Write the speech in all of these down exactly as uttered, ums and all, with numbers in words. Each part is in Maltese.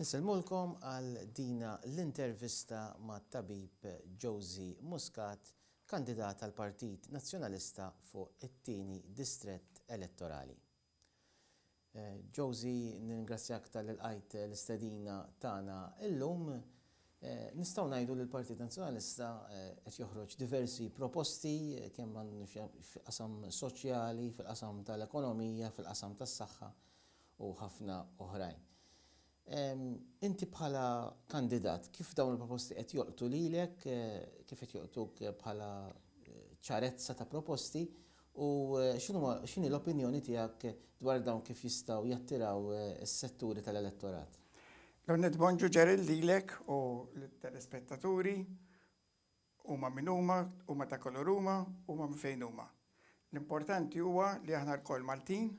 Insellmulkom għal dina l-intervista ma' tabib Josie Muscat, kandidat għal Partit Nazzjonalista fuq it-tieni distrett elettorali. Eh, Josie, ningrazzjak talli lqajt l-istedina tagħna illum. Eh, nistgħu ngħidu li l-Partit Nazzjonalista eh, qed joħroġ diversi proposti kemm fil-qasam soċjali, fil-qasam tal-ekonomija, fil-qasam tas-saħħa u ħafna oħrajn. Inti bħala kandidat, kif dawn il-proposti qed jolqtu lilek, eh, kif qed jolqtuk bħala eh, ċarezza ta' proposti u eh, x'inhi l-opinjoni tiegħek dwar dawn kif jistgħu jattiraw is-setturi tal-elettorat? L-ewwelnett bonġu Gerald lilek u l-telespettaturi huma min huma, huma ta' kulur huma, huma minn fejn huma. L-importanti huwa li aħna lkoll Maltin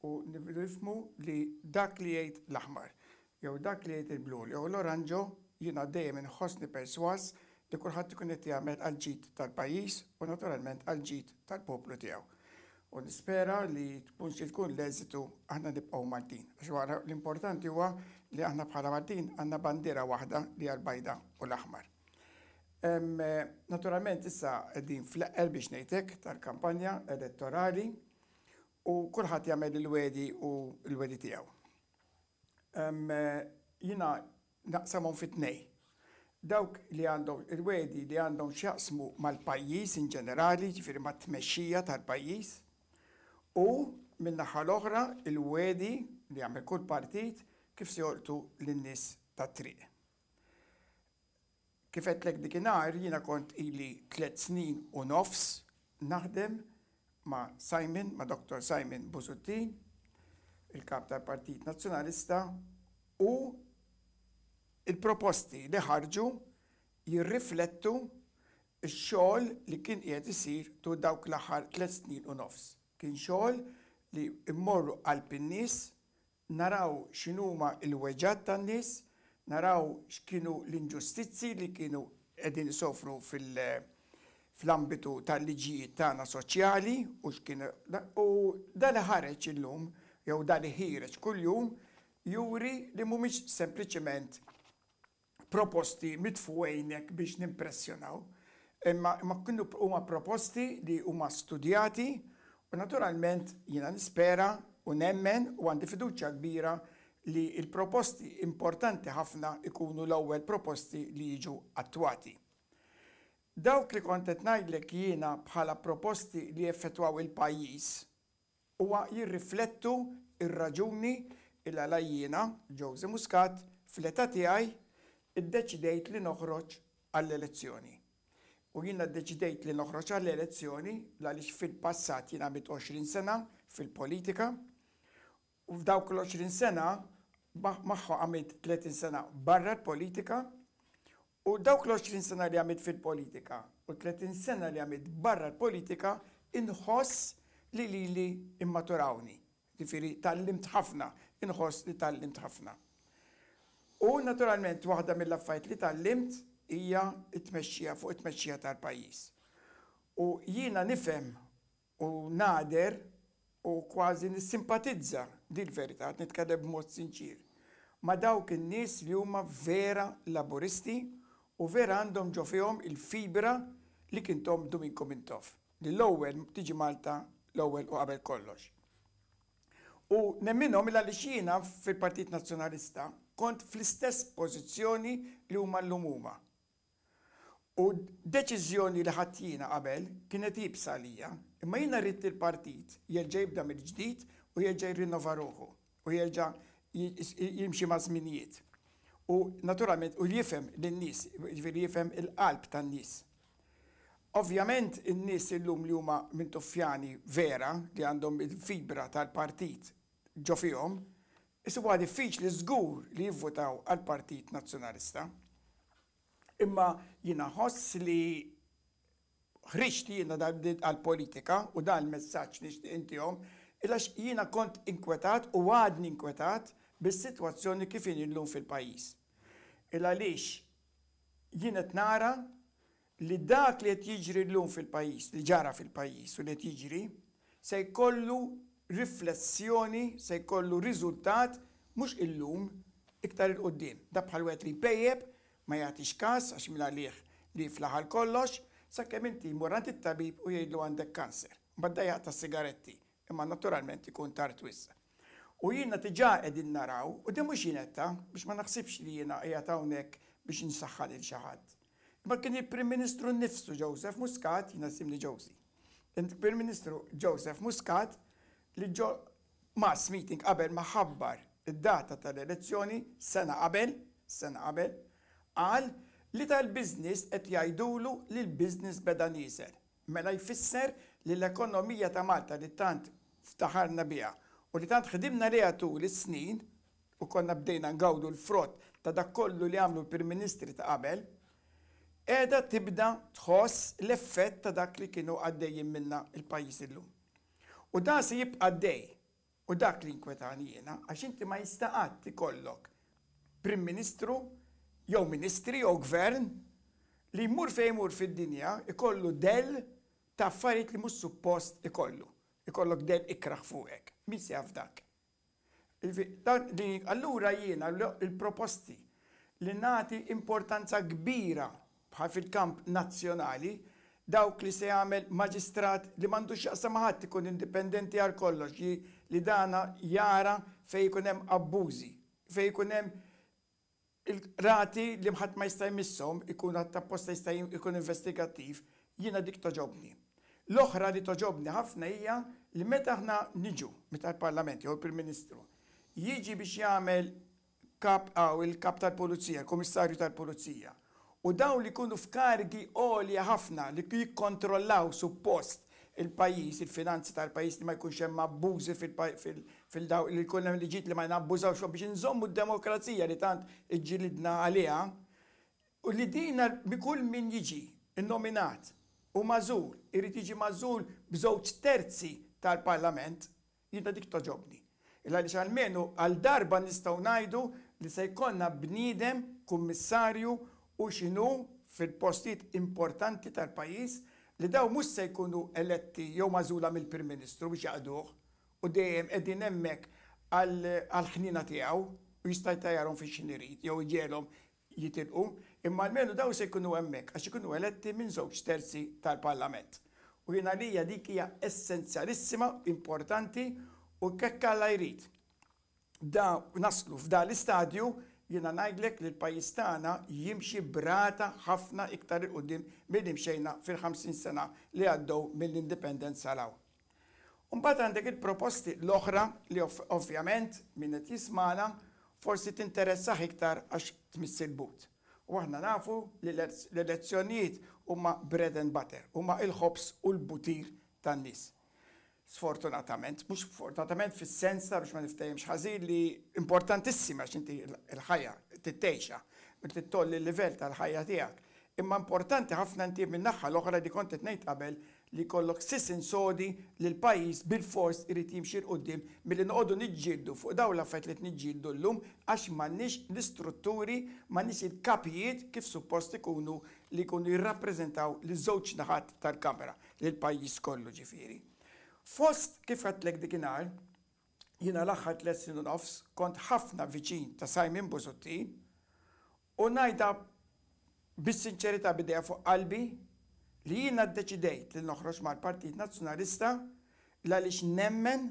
u nifhmu li dak li jgħid l-aħmar jew dak li jgħid il-blu jew l-oranġo jiena dejjem inħossni perswas li kulħadd ikun qed jagħmel għall-ġid tal-pajjiż u naturalment għall-ġid tal-poplu tiegħu. U nispera li tkun xi tkun l-eżitu aħna nibqgħu Maltin. Għax wara l-importanti huwa li aħna bħala Maltin għandna bandiera waħda li hija l-bajda u l-aħmar. Naturalment issa qegħdin fl-eqqel biex ngħidlek tal-kampanja elettorali u kulħadd jagħmel il-wegħdi u l-wegħdi tiegħu. Jiena naqsamhom fi tnejn. Dawk li għandhom il-wegħdi li għandhom x'jaqsmu mal-pajjiż in ġenerali, ġifieri mat-tmexxija tal-pajjiż, u min-naħa l-oħra il-wegħdi li jagħmel kull partit kif se jolqtu lin-nies tat-triq. Kif għedtlek dikinhar jiena kont ili tliet snin u nofs naħdem ma' Simon, ma' Dottor Simon Busuttil, il-kap tal-Partit Nazzjonalista, u il-proposti li ħarġu jirriflettu x-xogħol li kien qiegħed isir tul dawk l-aħħar tliet snin u nofs. Kien xogħol li immorru qalb in-nies, naraw x'inhuma l-weġgħat tan-nies, naraw x'kienu l-inġustizzi li kienu qegħdin isofru fil- fl-ambitu tal-liġijiet tagħna soċjali u x'kien u dan li ħareġ illum jew dan li ħiereġ kuljum juri li mhumiex sempliċement proposti mitfugħin biex nimpressjonaw, imma imma kienu huma proposti li huma studjati u naturalment jiena nispera u nemmen u għandi fiduċja kbira li il-proposti importanti ħafna ikunu l-ewwel proposti li jiġu attwati. Dawk li kont qed ngħidlek jiena bħala proposti li effettwaw il-pajjiż huwa jirriflettu ir-raġuni il għala jiena, Josie Muscat, fl-età tiegħi iddeċidejt li noħroġ għall-elezzjoni. U jiena ddeċidejt li noħroġ għall-elezzjoni għaliex fil-passat jiena għamilt għoxrin sena fil-politika u f'dawk l-għoxrin sena magħha għamilt tletin sena barra l-politika u dawk l-għoxrin sena li għamilt fil-politika u tletin sena li għamilt barra l-politika inħoss li lili immaturawni. Ġifieri tgħallimt ħafna, inħoss li tgħallimt ħafna. U naturalment waħda mill-affarijiet li tgħallimt hija t-tmexxija fuq it-tmexxija tal-pajjiż. U jiena nifhem u nagħder u kważi nissimpatizza din verità, nitkellem b'mod sinċir, ma' dawk in-nies li huma vera Laburisti u vera għandhom ġo fihom il-fibra li kien tahom Duminku Mintoff. Li l-ewwel tiġi Malta l-ewwel u qabel kollox. U nemminhom għaliex jiena fil-Partit Nazzjonalista kont fl-istess pożizzjoni li huma llum huma. U deċiżjoni li ħadt jiena qabel kienet iebsa għalija, imma jiena rrid il-partit jerġa' jibda mill-ġdid u jerġa' jirrinnova ruħu u jerġa' jimxi ma' żminijiet. U naturalment u jifhem lin-nies, jiġifieri jifhem il-qalb tan-nies. Ovvjament in-nies illum li huma Mintoffjani vera li għandhom il-fibra tal-partit ġo fihom, isibuha diffiċli żgur li jivvutaw għall-Partit Nazzjonalista. Imma jiena ħoss li ħriġt jiena għal-politika u dan il-messaġġ nixtieq intihom għax jiena kont inkwetat u għadni inkwetat bis-sitwazzjoni kif inhi llum fil-pajjiż. Il għaliex jien qed nara li dak li qed jiġri llum fil-pajjiż, li ġara fil-pajjiż u li qed jiġri, se jkollu riflessjoni, se jkollu riżultat mhux illum iktar 'il quddiem. Da bħal wieħed li jpejjep, ma jagħtix każ għax minn għalih li flaħal kollox, sakemm inti jmur għand it-tabib u jgħidlu għandek kanser. Mbagħad jaqta' sigaretti, imma naturalment ikun tard wisq. U jiena diġà qegħdin naraw, u din mhux jiena biex ma naħsibx li jiena qiegħed hawnhekk biex insaħħan lil xi ħadd. Imma kien il-Prim Ministru nnifsu Joseph Muscat, jiena jisimni Josie. Il-Prim Ministru Joseph Muscat li ġo mass meeting qabel ma ħabbar id-data tal-elezzjoni sena qabel, sena qabel, qal li tal-business qed jgħidulu li l-business beda nieżel. Mela jfisser li l-ekonomija ta' Malta li tant ftaħarna biha u li tant ħdimna liha tul is-snin u konna bdejna ngawdu l-frott ta' dak kollu li għamlu l-Prim Ministri ta' qabel, qiegħda tibda tħoss l-effett ta' dak li kienu għaddejjin minna il-pajjiż illum. U da se jibqa' għaddej. U dak li inkwetani jiena, għax inti ma jista' qatt ikollok Prim Ministru jew Ministri jew Gvern li jmur fejn jmur fid-dinja ikollu del ta' affarijiet li mhux suppost ikollu. Ikollok del ikraħ fuqek. Min se jaf dak? Allura jiena il-proposti li nagħti importanza kbira bħal fil-kamp nazzjonali, dawk li se jagħmel maġistrat li m'għandux x'jaqsam ma' ħadd, ikun indipendenti għal kollox, li dana jara fejn ikun hemm abbużi, fejn ikun hemm il-rati li ħadd ma jista' jmisshom, ikun apposta jista' jkun investigattiv, jiena dik togħġobni. L-oħra li togħġobni ħafna hija li meta aħna niġu, meta l-Parlament jew il-Prim Ministru jiġi biex jagħmel kap għaw il-kap tal-Pulizija, il-Kummissarju tal-Pulizija, u dawn li jkunu f'kargi għolja ħafna li jikkontrollaw suppost il-pajjiż, il-finanzi tal-pajjiż, li ma jkunx hemm abbużi fil-daw li jkun hemm liġijiet li ma nabbużawx biex inżommu d-demokrazija li tant iġġilidna għaliha, u li dina kull min jiġi innominat u magħżul, irid jiġi magħżul b'żewġ terzi tal-Parlament, jiena dik togħġobni. Illa li almenu għal darba nistgħu ngħidu li se jkollna bniedem, kummissarju u x'inhu fil-postijiet importanti tal-pajjiż, li daw mhux se jkunu eletti jew magħżula mill-Prim Ministru biex jaqduh u dejjem qegħdin hemmhekk għall-ħnina tiegħu u jista' jtajjarhom fi x'ħin irid jew iġegħelhom jitilqu, imma almenu daw se jkunu hemmhekk għax ikunu eletti minn żewġ terzi tal-Parlament. U jiena lija dik hija essenzjalissima, importanti, u kekk Alla jrid. Da naslu f'da l-istadju, jiena ngħidlek li l-pajjiż tagħna jimxi brata ħafna iktar 'il quddiem milli mxejna fil-ħamsin sena li għaddew mill-indipendenza law. Mbagħad għandek il-proposti l-oħra li ovvjament min qed jismana forsi tinteressah iktar għax tmiss il-but. U aħna nafu li l-elezzjonijiet huma bread and butter, huma il-ħobż u l-butir tan-nies. Sfortunatament, mhux fortunatament fis-sens ta' biex ma niftehimx ħażin, li importantissima għax inti l-ħajja tittejxa, u titolli l-livell tal-ħajja tiegħek. Imma importanti ħafna inti min-naħa l-oħra li kont qed ngħid qabel li jkollok sisin sodi li l-pajjiż bil-fors irid jimxi 'l quddiem milli noqogħdu niġġieldu fuq dawn l-affarijiet li niġġieldu llum għax m'għandniex l-istrutturi, m'għandniex il-kapijiet kif suppost ikunu li jkunu jirrappreżentaw liż-żewġ naħat tal-Kamra, lill-pajjiż kollu ġifieri. Fost kif għedtlek dikinhar, jiena l-aħħar tliet snin u nofs kont ħafna viċin ta' Simon Busuttil u ngħidha bis-sinċerità bidejja fuq qalbi li jiena ddeċidejt li noħroġ mal-Partit Nazzjonalista għaliex nemmen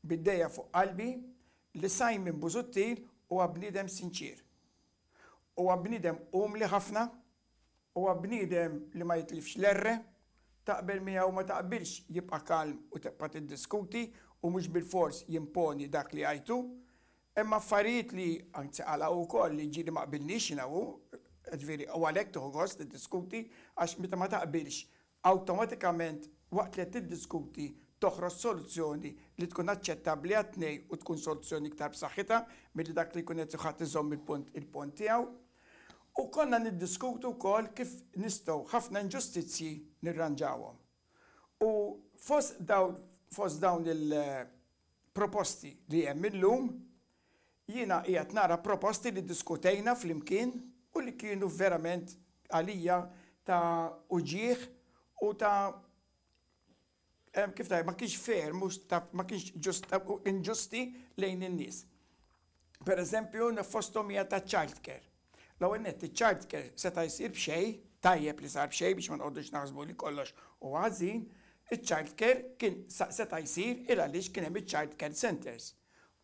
bidejja fuq qalbi li Simon Busuttil huwa bniedem sinċir. Huwa bniedem umli ħafna, huwa bniedem li ma jitlifx l-erre, taqbel miegħu ma taqbilx jibqa' kalm u tibqa' tiddiskuti u mhux bil-fors jimponi dak li għajtu. Imma affarijiet li anzi għala wkoll li ġieli ma qbilniex jiena hu, ġifieri u għalhekk tieħu gost tiddiskuti għax meta ma taqbilx awtomatikament waqt li qed tiddiskuti toħroġ soluzzjoni li tkun aċċettabbli għat-tnejn u tkun soluzzjoni iktar b'saħħitha milli dak li jkun qed ħadd iżomm il-punt il-punt tiegħu. U konna niddiskutu wkoll kif nistgħu ħafna inġustizzji nirranġawhom. U fost dawn, fost dawn il-proposti li hemm illum, jiena qiegħed nara proposti li ddiskutejna flimkien u li kienu verament għalija ta' uġieħ u ta' kif ta' ma kienx fair, mhux ta' ma kienx ġust, inġusti lejn in-nies. Per eżempju, fosthom hija ta' childcare. L-ewwel nett, iċ-childcare seta' jsir b'xejn, tajjeb li sar b'xejn biex ma nqogħdux naħsbu li kollox hu ħażin, iċ-childcare kien seta' jsir il għaliex kien hemm iċ-childcare centers.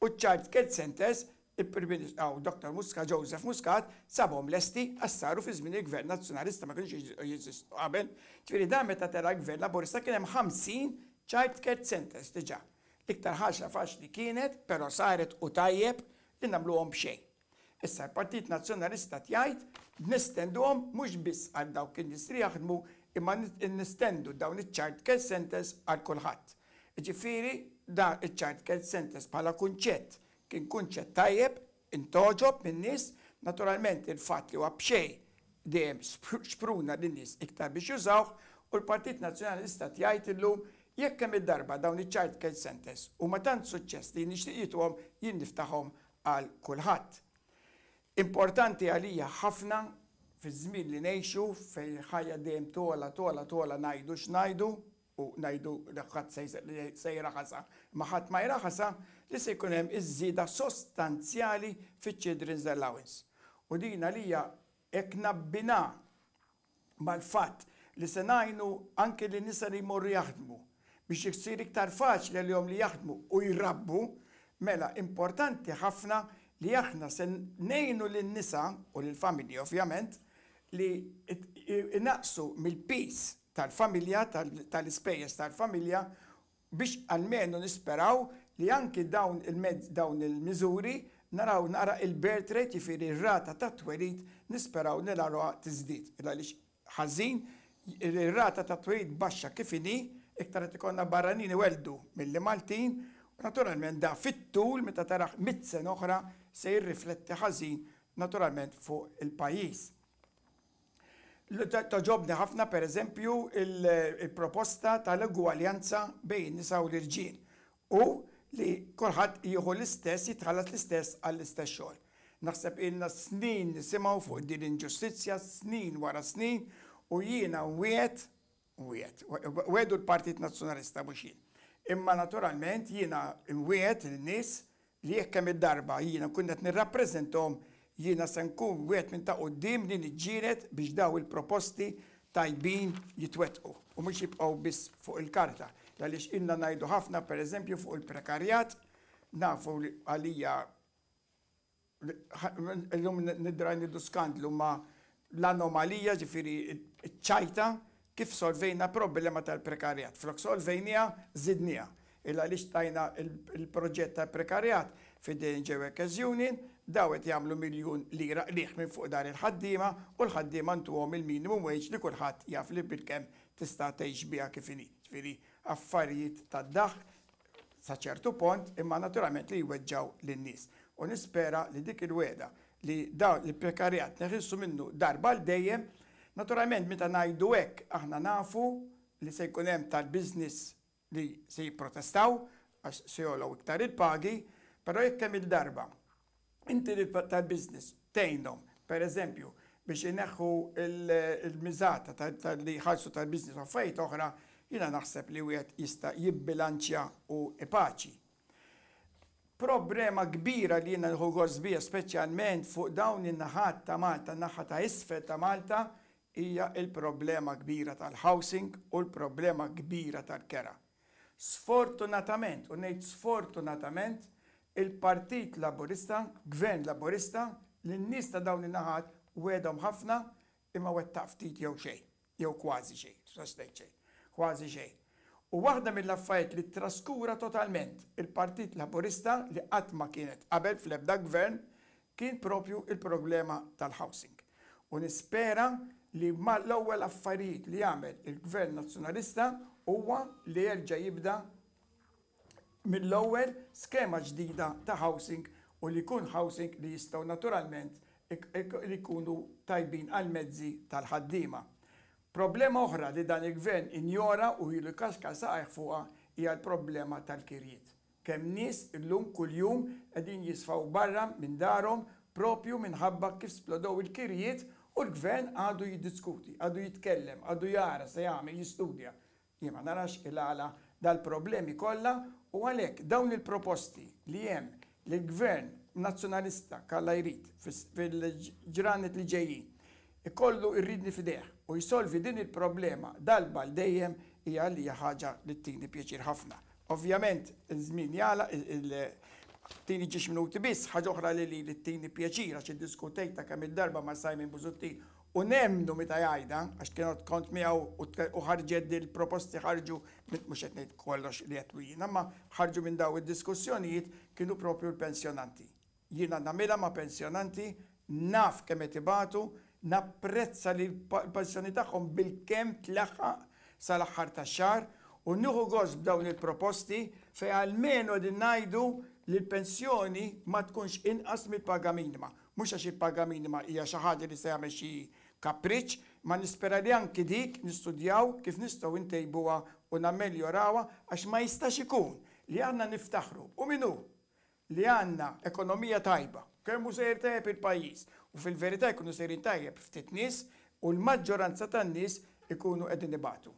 U ċ-childcare centers, il-Prim Ministru Doctor Muscat, Joseph Muscat, sabhom lesti għax saru fi żmien il-Gvern Nazzjonalista, ma kienx jeżistu qabel. Ġifieri dan meta tela gvern Laburista kien hemm ħamsin childcare centers diġà. L-iktar ħaġa faċli kienet, però saret u tajjeb li nagħmluhom b'xejn. Issa l-Partit Nazzjonalista jgħid nestenduhom mhux biss għal dawk in-nies li jaħdmu, imma nestendu dawn iċ-child care centers għal kulħadd. Ġifieri da iċ-child care centers bħala kunċett kien kunċett tajjeb, intgħoġob min-nies, naturalment il-fatt li huwa b'xejn dejjem xpruna lin-nies iktar biex jużawh, u l-Partit Nazzjonalista jgħid illum, jekk kemm id-darba dawn iċ-child care centers huma tant suċċess li nixtieq jituhom, jien niftaħhom għal kulħadd. Importanti għalija ħafna fi żmien li ngħixu fejn ħajja dejjem togħla, togħla, togħla, ngħidu x'ngħidu u ngħidu li ħadd se jraħasha, ma ħadd ma jraħasha, li se jkun hemm iż-żieda sostanzjali fiċ-Children's Allowance. U din għalija, hekk nabbina mal-fatt li se ngħinu anke li nisa li jmorru jaħdmu biex jsir iktar faċli għalihom li jaħdmu u jrabbu, mela importanti ħafna li aħna se ngħinu lin-nisa u lill-familji ovvjament li naqsu mill-piż tal-familja, tal-ispejjeż tal-familja, biex almenu nisperaw li anki dawn il-mezz, dawn il-miżuri, naraw nara il-birth rate, jiġifieri r-rata ta' twelid, nisperaw narawha tiżdied. Għaliex ħażin ir-rata ta' twelid baxxa kif inhi, iktar qed ikollna barranin iweldu milli Maltin, u naturalment da fit-tul, meta taraħ mitt sena oħra, se jirrifletti ħażin naturalment fuq il-pajjiż. Togħġobni ħafna, per eżempju, il-proposta tal-egwaljanza bejn nisa u l-irġiel u li kulħadd jieħu l-istess, jitħallas l-istess għall-istess xogħol. Naħseb ilna snin nisimgħu fuq din l-inġustizzja, snin wara snin, u jiena wiegħedt, wiegħedt, wiegħdu l-Partit Nazzjonalista, mhux jien. Imma naturalment jiena nwiegħed lin-nies li jekk kemm id-darba jiena nkun qed nirrappreżentahom, jiena se nkun wieħed minn ta' quddiem li niġġieled biex daw il-proposti tajbin jitwettqu u mhux jibqgħu biss fuq il-karta. Għaliex ilna ngħidu ħafna, pereżempju, fuq il-prekarjat, nafu li għalija illum nidra nidu skandlu ma l-anomalija, ġifieri ċajta, kif solvejna problema tal-prekarjat. Flok solvejnija, żidnija. Illa għaliex tajna il-proġett tal-prekarjat f'idejn Workers Union, daw qed jagħmlu miljun lira qligħ minn fuq dar il-ħaddiema, u l-ħaddiema ntuhom il-minimum wage li kulħadd jaf li bilkemm tista' tgħix biha kif inhi. Ġifieri affarijiet tad-daħk sa ċertu punt, imma naturalment li jweġġaw lin-nies. U nispera li dik il-wegħda li daw il-prekarjat neħilsu minnu darba l dejjem. Naturalment meta ngħidu hekk aħna nafu li se jkun hemm tal-business li se jipprotestaw għax se jogħlew iktar il-pagi, però jekk hemm il-darba inti li tal-business tgħinhom, per eżempju, biex ineħħu il-miżata li jħallsu tal-business u affarijiet oħra, jiena naħseb li wieħed jista' jibbilanċja u ipaċi. Problema kbira li jiena nieħu gost bija, speċjalment fuq dawn in-naħat ta' Malta, naħa ta' isfel ta' Malta, hija il-problema kbira tal-housing u l-problema kbira tal-kera. Sfortunatament, u ngħid sfortunatament, il-Partit Laburista, Gvern Laburista, lin-nies ta' dawn in-naħat wegħedhom ħafna, imma wettaq ftit jew xejn, jew kważi xejn, ngħid xejn, kważi xejn. U waħda mill-affarijiet li traskura totalment il-Partit Laburista, li qatt ma kienet qabel fl-ebda gvern, kien propju il-problema tal-housing. U nispera li ma l-ewwel affarijiet li jagħmel il-Gvern Nazzjonalista huwa li jerġa' jibda mill-ewwel skema ġdida ta' housing, u li jkun housing li jistgħu naturalment li jkunu tajbin għal mezzi tal-ħaddiema. Problema oħra li dan il-gvern injora u ilu jkaxkar saqajh fuqha hija l-problema tal-kirjiet. Kemm nies illum kuljum qegħdin jisfaw barra minn darhom propju minħabba kif splodow il-kirjiet, u l-gvern għadu jiddiskuti, għadu jitkellem, għadu jara se jagħmel, jistudja. Jien ma narax il-għala dal-problemi kollha, u għalhekk dawn il-proposti li hemm li l-gvern Nazzjonalista, Alla jrid, fil-ġranet li ġejjin, ikollu r-riedni f'idejh u jsolvi din il-problema darba għal dejjem, hija li ħaġa li ttini pjaċir ħafna. Ovvjament, iż-żmien jala, tini ġiex minuti biss, ħaġa oħra li li ttini pjaċir għax iddiskutejtha kemm il-darba ma' Simon Busuttil u nemmnu meta jgħidha, għax kienu kont miegħu u ħarġet il-proposti, ħarġu, mhux qed ngħid kollox li qed jiena, ma ħarġu minn daw id-diskussjonijiet, kienu propju l-pensjonanti. Jiena nagħmilha ma' pensjonanti, naf kemm qed ibatu, napprezza li l-pensjoni tagħhom bilkemm tlaħħaq sal-aħħar tax-xahar u nieħu gost b'dawn il-proposti fejn almenu qegħdin ngħidu li l-pensjoni ma tkunx inqas mill-paga minima. Mhux għax il-paga minima hija xi ħaġa li se jagħmel xi kapriċ, ma nispera li anki dik nistudjaw kif nistgħu ntejbuha u nammeljorawha, għax ma jistax ikun li għandna niftaħru u minnu li għandna ekonomija tajba, kemm hu sejjer tajjeb il-pajjiż, u fil-verità jkunu sejrin tajjeb ftit nies u l-maġġoranza tan-nies ikunu qegħdin ibatu.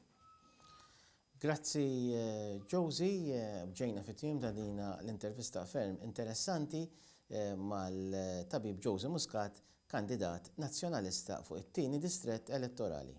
Grazzi, Josie, ġejna fit-tmiem ta' dina l-intervista ferm interessanti mal-tabib Josie Muscat, kandidat nazzjonalista fuq it-tieni distrett elettorali.